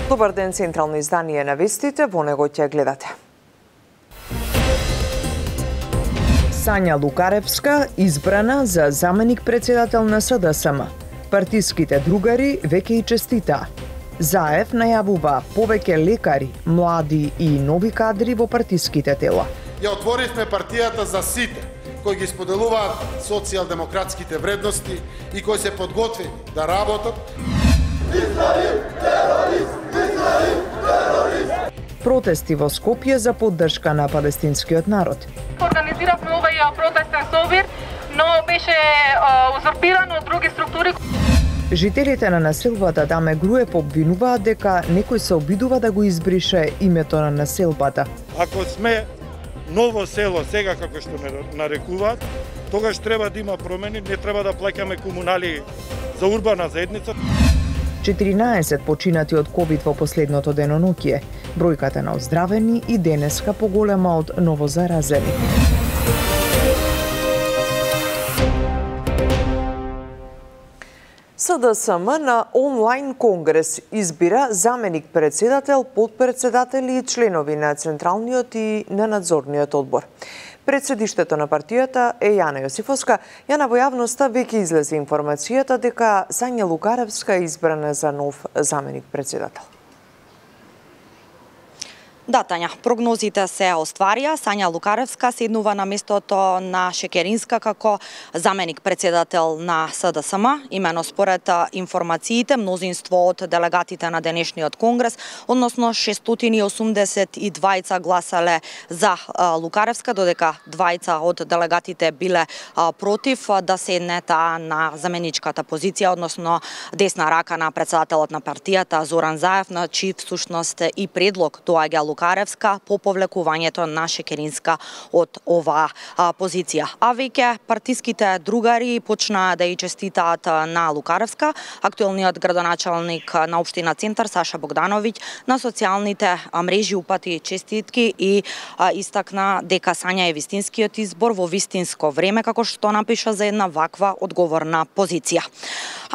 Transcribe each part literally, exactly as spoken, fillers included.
Добар ден, централно издание на вестите, во него ќе гледате. Сања Лукаревска избрана за заменик председател на С Д С М. Партиските другари веќе и честита. Заев најавува повеќе лекари, млади и нови кадри во партиските тела. Ја отворивме партијата за сите кои ги споделуваат социјалдемократските вредности и кои се подготвени да работат. Израил, терорист! Израил, терорист! Протести во Скопје за поддршка на палестинскиот народ. Организиравме овој протестен собир, но беше узурпиран од други структури. Жителите на населбата Даме Груев обвинуваат дека некој се обидува да го избрише името на населбата. Ако сме ново село сега како што ме нарекуваат, тогаш треба да има промени, не треба да плаќаме комунали за урбана заедница. четиринаесет починати од ковид во последното деноноќие. Бројката на оздравени и денеска поголема од новозаразени. С Д С М на онлайн конгрес избира заменик председател, потпредседатели и членови на Централниот и на надзорниот одбор. Пред седиштето на партијата е Јана Јосифовска. Јана, во јавноста веќе излезе информацијата дека Сања Лукаревска е избрана за нов заменик председател. Да, Тања, прогнозите се остварија. Сања Лукаревска седнува на местото на Шекеринска како заменик председател на С Д С М. Имено според информациите, мнозинство од делегатите на денешниот конгрес, односно шестстотини и осумдесет и двајца гласале за Лукаревска, додека двајца од делегатите биле против да седне таа на заменичката позиција, односно десна рака на председателот на партијата Зоран Заев, на чиј всушност и предлог доаѓа Лукаревска по повлекувањето на Шекеринска од оваа позиција. А веќе партиските другари почнаа да ја честитаат на Лукаревска. Актуелниот градоначалник на општина Центар Саша Богдановиќ на социјалните мрежи упати честитки и а, истакна дека Сања е вистинскиот избор во вистинско време, како што напиша за една ваква одговорна позиција.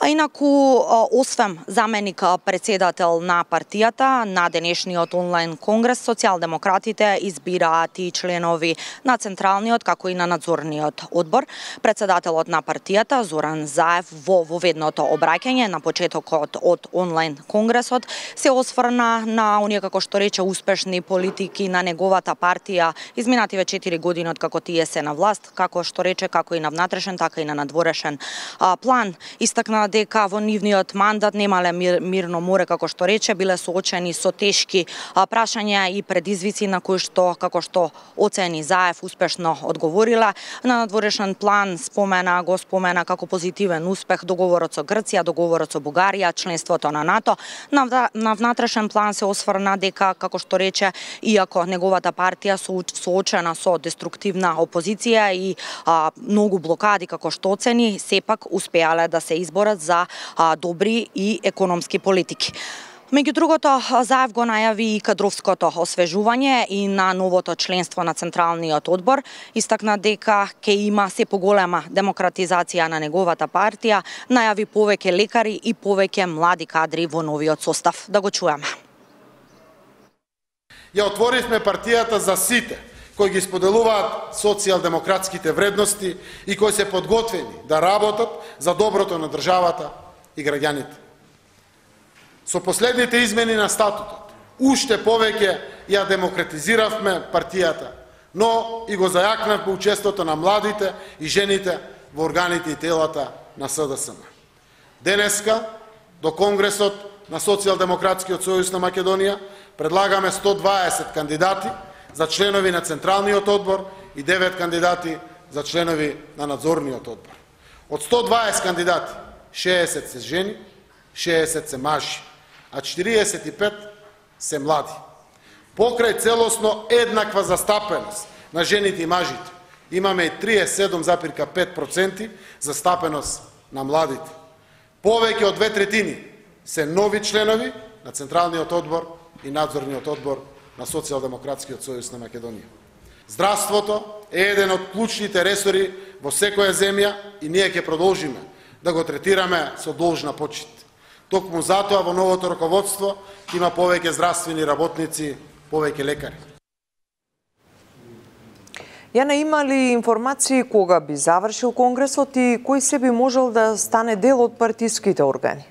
А инаку, освен заменик председател на партијата, на денешниот онлайн конгрес, социјалдемократите избираат и членови на Централниот, како и на надзорниот одбор. Председателот на партијата, Зоран Заев, во воведното обраќање на почетокот од онлайн конгресот, се осврна на оние, како што рече, успешни политики на неговата партија изминативе четири години од како тие се на власт, како што рече, како и на внатрешен, така и на надворешен а, план. Истакна дека во нивниот мандат немале мир, мирно море, како што рече, биле соочени со тешки а, прашања и предизвици на кои што, како што оцени Заев, успешно одговорила. На надворешен план спомена, го спомена како позитивен успех договорот со Грција, договорот со Бугарија, членството на НАТО. На, на внатрешен план се осврна дека, како што рече, иако неговата партија соочена со деструктивна опозиција и а, многу блокади, како што оцени, сепак успеале да се изборат за а, добри и економски политики. Меѓу другото, Заев го најави и кадровското освежување и на новото членство на Централниот одбор. Истакна дека ќе има се поголема демократизација на неговата партија, најави повеќе лекари и повеќе млади кадри во новиот состав. Да го чуеме. Ја отворивме партијата за сите кои ги споделуваат социјалдемократските вредности и кои се подготвени да работат за доброто на државата и граѓаните. Со последните измени на статутот, уште повеќе ја демократизиравме партијата, но и го зајакнавме учеството на младите и жените во органите и телата на С Д С М. Денеска, до Конгресот на Социјалдемократскиот сојуз на Македонија, предлагаме сто дваесет кандидати за членови на Централниот одбор и девет кандидати за членови на Надзорниот одбор. Од сто дваесет кандидати, шеесет се жени, шеесет се мажи, а четириесет и пет се млади. Покрај целосно еднаква застапеност на жените и мажите, имаме и триесет и седум запирка пет проценти застапеност на младите. Повеќе од две третини се нови членови на Централниот одбор и Надзорниот одбор на Социјалдемократскиот сојуз на Македонија. Здравството е еден од клучните ресори во секоја земја и ние ќе продолжиме да го третираме со должна почит. Токму затоа во новото раководство има повеќе здравствени работници, повеќе лекари. Јана, има ли информации кога би завршил Конгресот и кој се би можел да стане дел од партиските органи?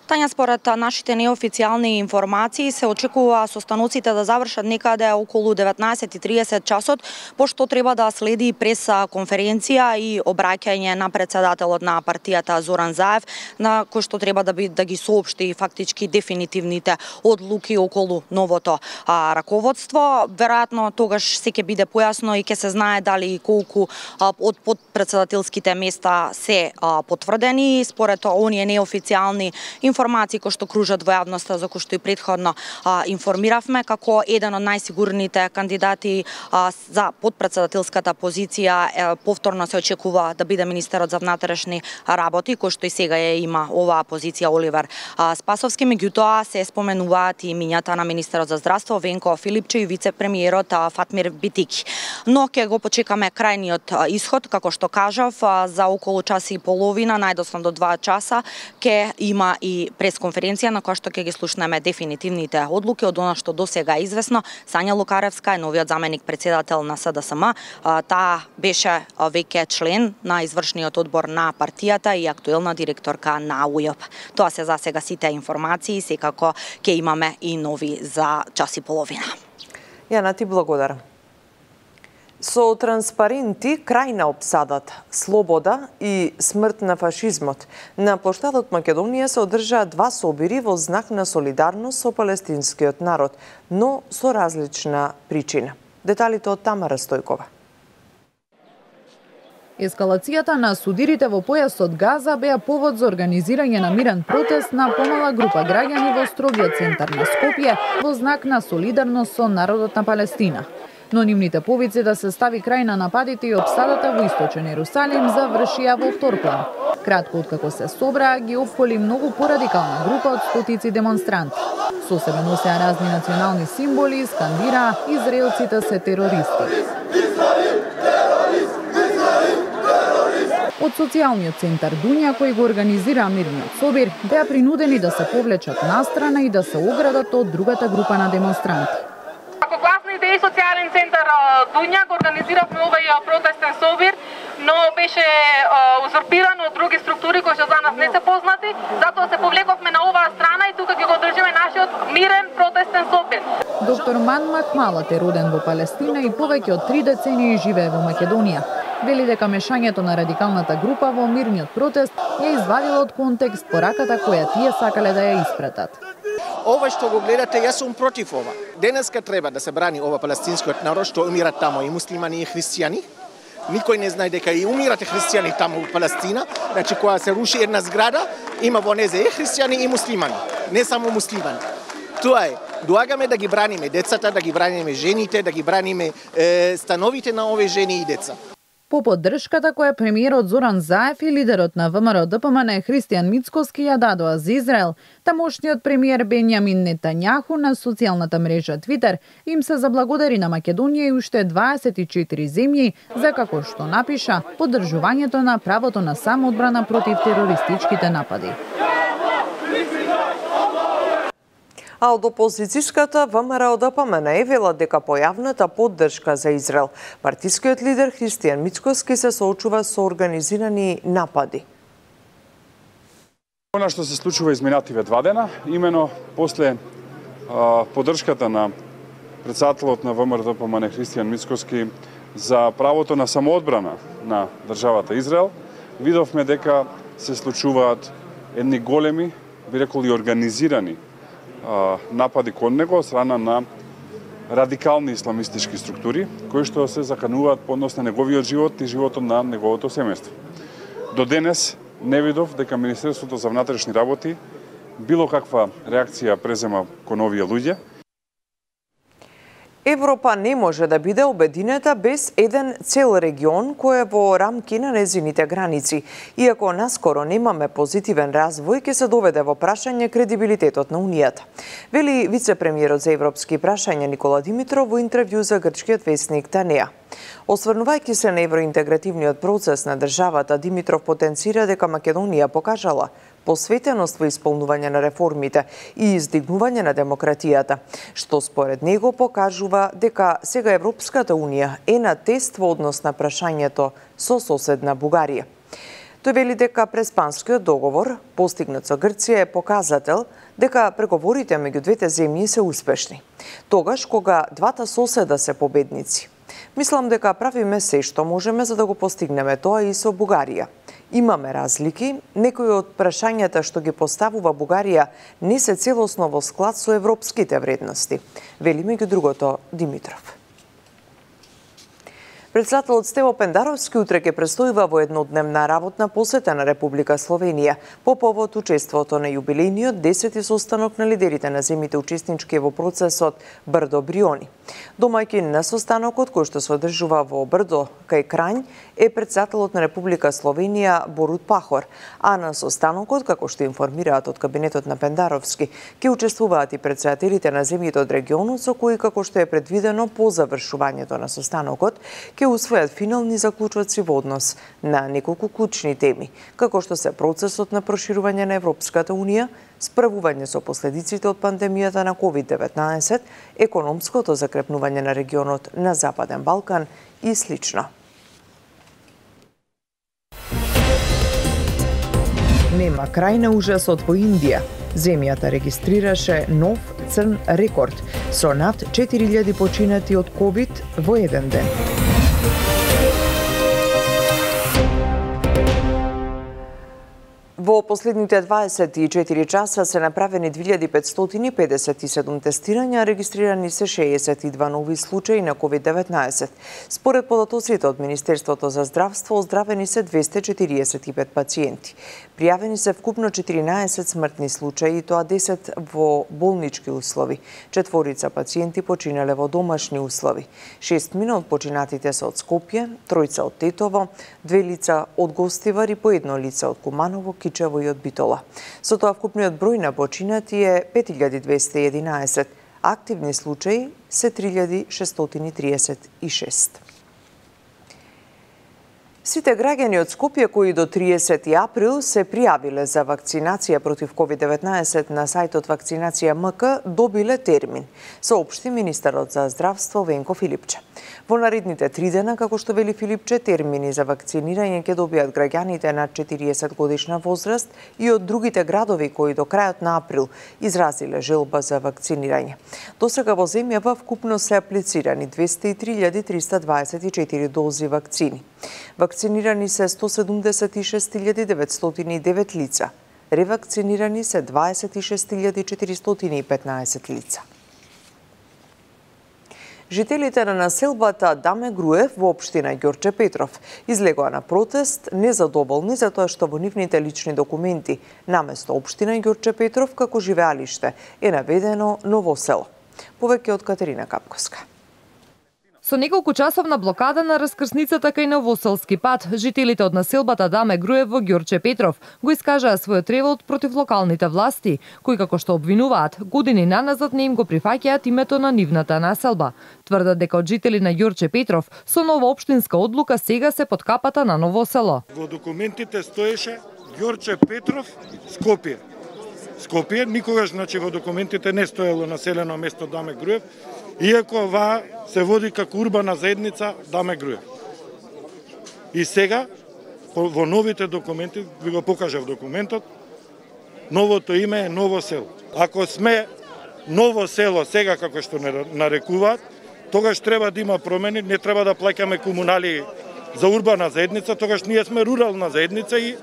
Тања, според нашите неофицијални информации, се очекува состаноците да завршат некаде околу деветнаесет и тридесет часот, пошто треба да следи прес конференција и обраќање на председателот на партијата Зоран Заев, на кој што треба да, би, да ги соопшти фактички дефинитивните одлуки околу новото а, раководство. Веројатно тогаш се ќе биде појасно и ќе се знае дали и колку а, од подпредседателските места се а, потврдени. Според оние неофицијални информации информации кои што кружат во јавноста, за кои што и претходно а, информиравме, како еден од најсигурните кандидати а, за подпредседателската позиција е, повторно се очекува да биде министерот за внатрешни работи, кој што и сега е има оваа позиција Оливер а, Спасовски. Меѓутоа се споменуваат и имињата на министерот за здравство Венко Филипче и вице-премиерот а, Фатмир Битики. Но ќе го почекаме крајниот а, ишод, како што кажав, а, за околу час и половина, најдосно до два часа, ќе има и пресконференција на која што ќе ги слушнеме дефинитивните одлуки од она што досега е известно. Сања Лукаревска е новиот заменик председател на С Д С М. Таа беше веќе член на извршниот одбор на партијата и актуелна директорка на У Ј П. Тоа се за сега сите информации, секако ќе имаме и нови за час и половина. Јана, ти благодарам. Со транспаренти крај на опсадата, слобода и смрт на фашизмот, на плоштадот Македонија се одржаа два собири во знак на солидарност со палестинскиот народ, но со различна причина. Деталите од Тамара Стојкова. Ескалацијата на судирите во појасот Газа беа повод за организирање на мирен протест на помала група граѓани во строгиот центар на Скопје во знак на солидарност со народот на Палестина. Но нимните повици да се стави крај на нападите и опсадата во источен Ерусалим завршија во вторплан. Кратко откако се собраа, ги опколи многу порадикална група од стотици демонстранти. Со себе носеа разни национални символи и скандираа израелците се терористи. Од социјалниот центар Дуња, кој го организира мирниот собир, беа принудени да се повлечат настрана и да се оградат од другата група на демонстранти. Како гласна идеја социјален центар Дуња го организиравме овој протестен собир, но беше узурпиран од други структури кои што за нас не се познати, затоа се повлековме на оваа страна и тука ќе го држиме нашиот мирен протестен собир. Доктор Ман Махмалат е роден во Палестина и повеќе од три децении живее во Македонија. Вели дека мешањето на радикалната група во мирниот протест ја извадило од контекст пораката која тие сакале да ја испратат. Ова што го гледате, јас сум против ова. Денеска треба да се брани ова палестинскиот народ што умират тамо и муслимани и христијани. Никој не знае дека и умирате христијани тамо во Палестина. Значи, кога се руши една зграда, има во незе и христијани и муслимани, не само муслимани. Тоа е. Доагаме да ги браниме децата, да ги браниме жените, да ги браниме е, становите на овие жени и деца. По поддршката која премиерот Зоран Заев и лидерот на В М Р Д П М Н Христијан Мицкоски ја дадоа за Израел, тамошниот премиер Бенјамин Нетањаху на социјалната мрежа Твитер им се заблагодари на Македонија и уште дваесет и четири земји за, како што напиша, поддржувањето на правото на самоодбрана против терористичките напади. А од опозицијската В М Р Д П М Н вела дека појавната поддршка за Израел, партискиот лидер Христијан Мицкоски се соочува со организирани напади. Она што се случува изминативе два дена, имено после а, поддршката на председателот на В М Р Д П М Н Христијан Мицкоски за правото на самоодбрана на државата Израел, видовме дека се случуваат едни големи, би рекол и организирани напади кон него од страна на радикални исламистички структури, кои што се закануваат по однос на неговиот живот и животот на неговото семејство. До денес не видов дека Министерството за внатрешни работи било каква реакција презема кон овие луѓе. Европа не може да биде обединета без еден цел регион кој е во рамки на незините граници. Иако наскоро немаме позитивен развој, ќе се доведе во прашање кредибилитетот на Унијата. Вели вице-премиерот за европски прашања Никола Димитров во интервју за грчкиот весник Танеа. Осврнувајќи се на евроинтегративниот процес на државата, Димитров потенцира дека Македонија покажала посветеност во исполнување на реформите и издигнување на демократијата, што според него покажува дека сега Европската Унија е на тест во однос на прашањето со соседна Бугарија. Тој вели дека Преспанскиот договор, постигнат со Грција, е показател дека преговорите меѓу двете земји се успешни. Тогаш кога двата соседа се победници. Мислам дека правиме се што можеме за да го постигнеме тоа и со Бугарија. Имаме разлики, некои од прашањата што ги поставува Бугарија не се целосно во склад со европските вредности, вели меѓу другото Димитров. Председателот Стево Пендаровски утре ќе престојува во еднодневна работна посета на Република Словенија по повод учеството на јубилејниот десети состанок на лидерите на земјите учеснички во процесот Брдо Бриони. Домаќин на состанокот, кој што се одржува во Брдо кај Крањ, е председателот на Република Словенија Борут Пахор, а на состанокот, како што информираат од кабинетот на Пендаровски, ќе учествуваат и председателите на земјите од регионот, со кои, како што е предвидено по завршувањето на состанокот, ќе усвојат финални заклучоци во однос на неколку клучни теми, како што се процесот на проширување на Европската Унија, справување со последиците од пандемијата на ковид деветнаесет, економското закрепнување на регионот на Западен Балкан и слично. Нема крај на ужасот во Индија. Земјата регистрираше нов црн рекорд со над четири илјади починати од ковид во еден ден. Во последните дваесет и четири часа се направени две илјади петстотини педесет и седум тестирања, регистрирани се шеесет и два нови случаи на ковид деветнаесет. Според податоците од Министерството за здравство, оздравени се двесте четириесет и пет пациенти. Пријавени се вкупно четиринаесет смртни случаи, и тоа десет во болнички услови. Четворица пациенти починале во домашни услови. Шестмина од починатите се од Скопје, тројца од Тетово, две лица од Гостивар и по едно лице од Куманово, Кичево и од Битола. Со тоа вкупниот број на починати е пет илјади двесте и единаесет, активни случаи се три илјади шестстотини триесет и шест. Сите граѓани од Скопје кои до триесети април се пријавиле за вакцинација против ковид деветнаесет на сајтот Вакцинација ем ка добиле термин, соопшти министерот за здравство Венко Филипче. Во наредните три дена, како што вели Филипче, термини за вакцинирање ќе добијат граѓаните над четириесет годишна возраст и од другите градови кои до крајот на април изразиле желба за вакцинирање. Досега во земјава вкупно се аплицирани двесте и три илјади триста дваесет и четири дози вакцини. Вакцинирани се сто седумдесет и шест илјади деветстотини и девет лица. Ревакцинирани се дваесет и шест илјади четиристотини и петнаесет лица. Жителите на населбата Даме Груев во општина Ѓорче Петров излегоа на протест незадоволни за тоа што во нивните лични документи наместо општина Ѓорче Петров како живеалиште е наведено Ново село. Повеќе од Катерина Капковска. Со неколку часовна блокада на раскрсницата кај Новоселски пат, жителите од населбата Даме Груев во Ѓорче Петров го искажаа својот револт против локалните власти, кои како што обвинуваат, години наназад не им го прифаќаат името на нивната населба. Тврдат дека од жители на Ѓорче Петров со нова општинска одлука сега се под капата на Ново село. Во документите стоеше Ѓорче Петров, Скопје. Скопје, никогаш значи во документите не стоело населено место Даме Груев, иако ова се води како урбана заедница Даме Груев. И сега, во новите документи, ви го покажав документот, новото име е Ново село. Ако сме Ново село сега како што не нарекуваат, тогаш треба да има промени, не треба да плаќаме комунали за урбана заедница, тогаш ние сме рурална заедница и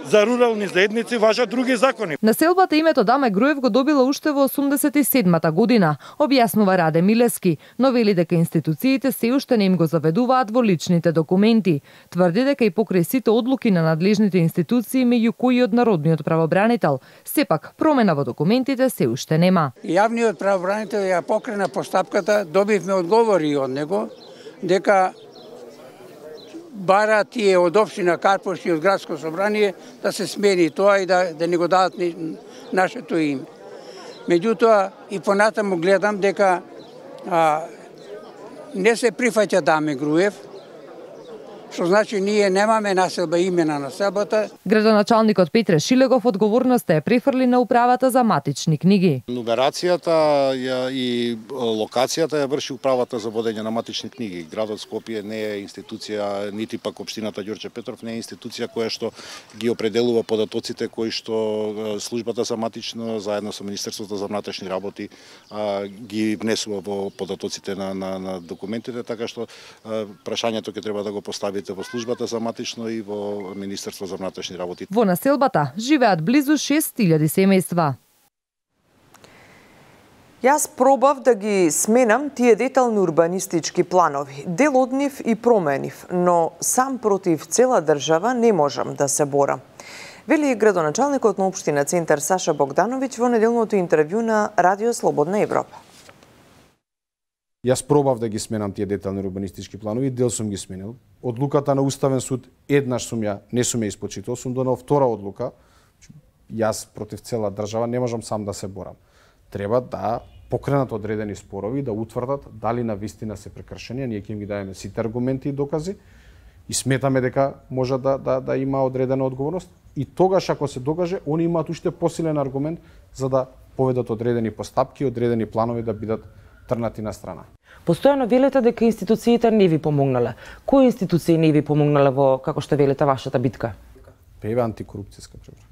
за рурални заедници важат други закони. Населбата името Даме Груев го добила уште во осумдесет и седмата година, објаснува Раде Милески, но вели дека институциите се уште не им го заведуваат во личните документи. Тврди дека и покрај сите одлуки на надлежните институции, меѓу кои од Народниот правобранител, сепак промена во документите се уште нема. Јавниот правобранител ја покрена постапката, добивме одговори од него дека бара тие од општина Карпош и од градско собрание да се смени тоа и да, да не го дадат ни, нашето име. Меѓутоа и понатаму гледам дека а, не се прифаќа Даме Груев, што значи ние немаме населба имена на населбата. Градоначалникот Петре Шилегов одговорноста е префрли на управата за матични книги. Нумерацијата и локацијата ја врши управата за водење на матични книги. Градот Скопје не е институција, нити пак општината Ѓорче Петров не е институција која што ги определува податоците кои што службата за матично заедно со Министерството за внатрешни работи ги внесува во податоците на, на, на документите, така што прашањето ќе треба да го постави во службата за матично и во Министерство за внатрешни работи. Во населбата живеат близу шест илјади семејства. Јас пробав да ги сменам тие детални урбанистички планови. Дел од нив и променив, но сам против цела држава не можам да се борам. Вели градоначалникот на општина Центар Саша Богдановиќ во неделното интервју на Радио Слободна Европа. Јас пробав да ги сменам тие детални урбанистички планови, дел сум ги сменил. Одлуката на Уставен суд еднаш сум ја, не сум ја испочитал, сум донел втора одлука. Јас против цела држава не можам сам да се борам. Треба да покренат одредени спорови, да утврдат дали на вистина се прекршени, ние ќе им ги даеме сите аргументи и докази и сметаме дека може да, да, да има одредена одговорност и тогаш ако се докаже, они имаат уште посилен аргумент за да поведат одредени постапки, одредени планови да бидат трнати на страна. Постојано велите дека институциите не ви помогнале. Кои институции не ви помогнале во, како што велите, вашата битка? Еве антикорупцијска препрага.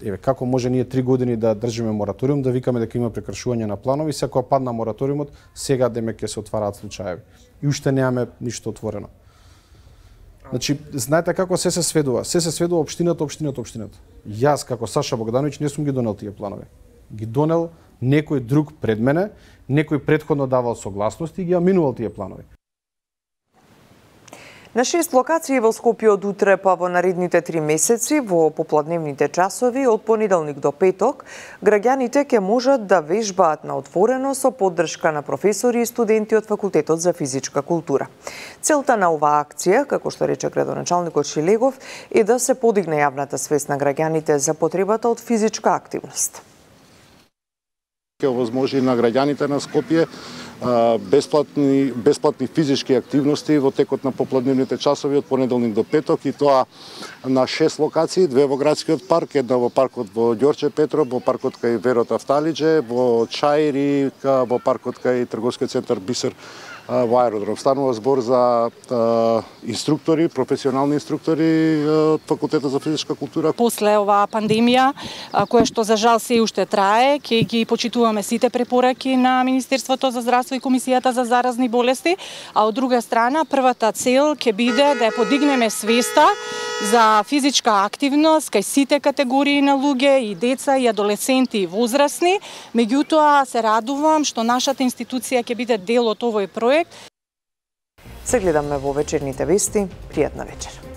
Еве како може ние три години да држиме мораториум, да викаме дека има прекршување на планови, се кога падна мораториумот, сега демек ќе се отвараат случаеви. И уште немаме ништо отворено. Значи, знаете како се се сведува? Се се сведува општината, општината, општината. Јас како Саша Богдановиќ не сум ги донел тие планови. Ги донел некој друг пред мене, некој претходно давал согласност и ги аминувал тие планови. На шест локации во Скопје од утре па во наредните три месеци во попладневните часови од понеделник до петок, граѓаните ќе можат да вежбаат на отворено со поддршка на професори и студенти од Факултетот за физичка култура. Целта на оваа акција, како што рече градоначалникот Шилегов, е да се подигне јавната свест на граѓаните за потребата од физичка активност. Ќе овозможи на граѓаните на Скопје бесплатни бесплатни физички активности во текот на попладневните часови од понеделник до петок и тоа на шест локации, две во градскиот парк, една во паркот во Ѓорче Петров, во паркот кај Верот Афталиџе, во Чаири, во паркот кај трговскиот центар Бисер во аеродром. Станува збор за а, инструктори, професионални инструктори од Факултетот за физичка култура. После оваа пандемија, која што за жал се уште трае, ќе ги почитуваме сите препораки на Министерството за здравство и Комисијата за заразни болести, а од друга страна првата цел ќе биде да ја подигнеме свеста за физичка активност кај сите категории на луѓе и деца и адолесценти и возрастни. Меѓутоа се радувам што нашата институција ќе биде дел од овој проект. Се гледаме во вечерните вести. Пријатна вечер.